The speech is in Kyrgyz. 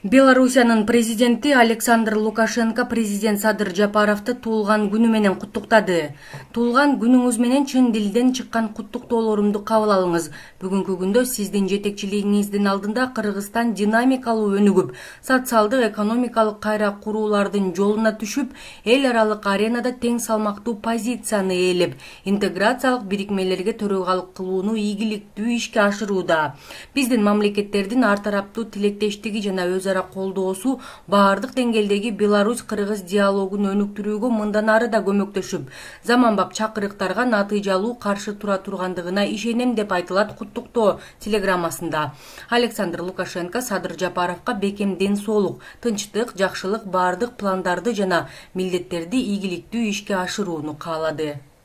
Белоруссиянын президенти Александр Лукашенко президент Садыр Жапаровду туулган күнү менен куттуктады. Туулган күнүңүз менен чын дилден чыккан куттуктоолорумду кабыл алыңыз. Бүгүнкү күндө сиздин жетекчилигиңиздин алдында Кыргызстан динамикалуу өнүгүп, социалдык экономикалык кайра куруулардын жолуна түшүп, эл аралык аренада тең салмактуу позицияны ээлеп, интеграциялык бирикмелерге төрагалык кылууну ийгиликтүү ишке ашырууда. Биздин мамлекеттердин ар тараптуу тилектештиги жана өзара колдоосу баардык деңгээлдеги Беларусь-Кыргыз диалогун өнүктүрүүгө мындан ары да көмөктөшүп, заманбап чакырыктарга натыйжалуу каршы тура тургандыгына ишенем деп айтылат куттуктоо телеграммасында. Александр Лукашенко Садыр Жапаровго бекем ден соолук, тынчтык, жакшылык, баардык пландарды жана милдеттерди ийгиликтүү ишке ашырууну каалады.